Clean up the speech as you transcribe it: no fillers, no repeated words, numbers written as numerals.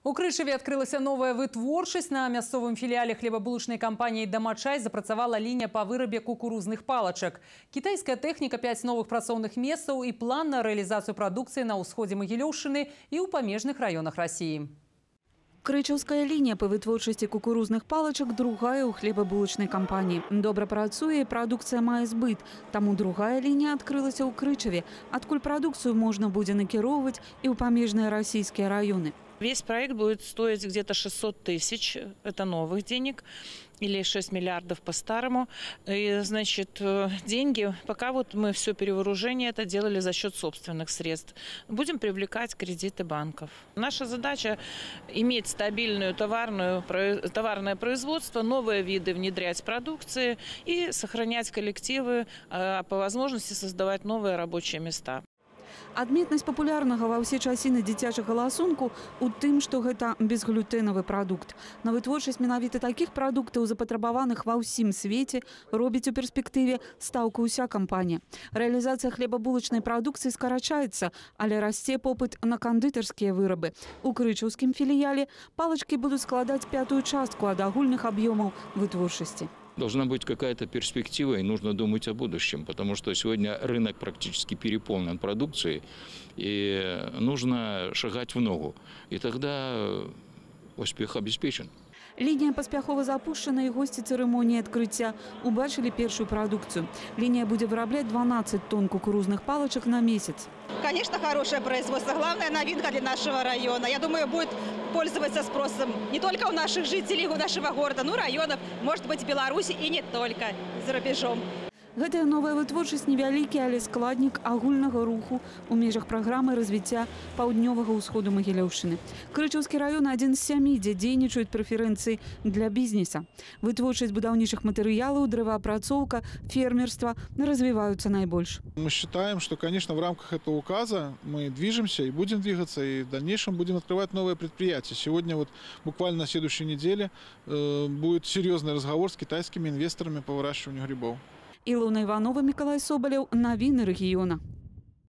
У Крышеве открылась новая вытворчасць. На мясцовым филиале хлебобулочной компании «Домачай» запрацавала линия по вырабе кукурузных палочек. Китайская техника, 5 новых працоўных месцаў и план на реализацию продукции на ўсходзе Магілёўшчыны и у памежных районах России. Крычаўская линия по вытворчасці кукурузных палочек другая у хлебобулочной компании. Добра працуе, продукция мае збыт. Таму другая линия открылася ў Крычаве, адкуль продукцию можно будет накіроўваць и у памежныя российские районы. Весь проект будет стоить где-то 600 тысяч, это новых денег, или 6 миллиардов по-старому. И, значит, деньги, пока вот мы все перевооружение это делали за счет собственных средств. Будем привлекать кредиты банков. Наша задача иметь стабильное товарное производство, новые виды внедрять продукции и сохранять коллективы, а по возможности создавать новые рабочие места. Адметнасць папулярнага ва ўсе часіны дзіцячага ласунку у тым, што гэта безглютэнавы прадукт. На вытворчасць менавіта такіх прадуктаў, запатрабаваных ва ўсім свеце, робіць у перспектыве стаўку ўся кампанія. Рэалізацыя хлебабулачнай прадукцыі скарачаецца, але расце попыт на кандытарскія вырабы. У крычаўскім філіяле палачкі будуць складаць 5-ю частку ад агульных аб'ёмаў вытворчасці. Должна быть какая-то перспектива, и нужно думать о будущем, потому что сегодня рынок практически переполнен продукцией, и нужно шагать в ногу, и тогда успех обеспечен. Линия паспяхова запущена, и гости церемонии открытия убачили первую продукцию. Линия будет вырабатывать 12 тонн кукурузных палочек на месяц. Конечно, хорошее производство. Главная новинка для нашего района. Я думаю, будет пользоваться спросом не только у наших жителей, у нашего города, но и районов, может быть, в Беларуси и не только, за рубежом. Гэтая новая вытворчасць невялікі, але складнік агульнага руху у межах праграмы развіцця паўднёвага ўсходу Магілёўшчыны. Крычаўскі раён адзін з 7, дзе дзейнічаюць прэферэнцыі для бізнеса. Вытворчасць будаўнічых матэрыялаў, дрэваапрацоўка, фермерства развиваются наибольше. Мы считаем, что, конечно, в рамках этого указа мы движемся и будем двигаться, и в дальнейшем будем открывать новые предприятия. Сегодня вот буквально на следующей неделе будет серьезный разговор с китайскими инвесторами по выращиванию грибов. Илона Иванова, Миколай Соболев. Новины региона.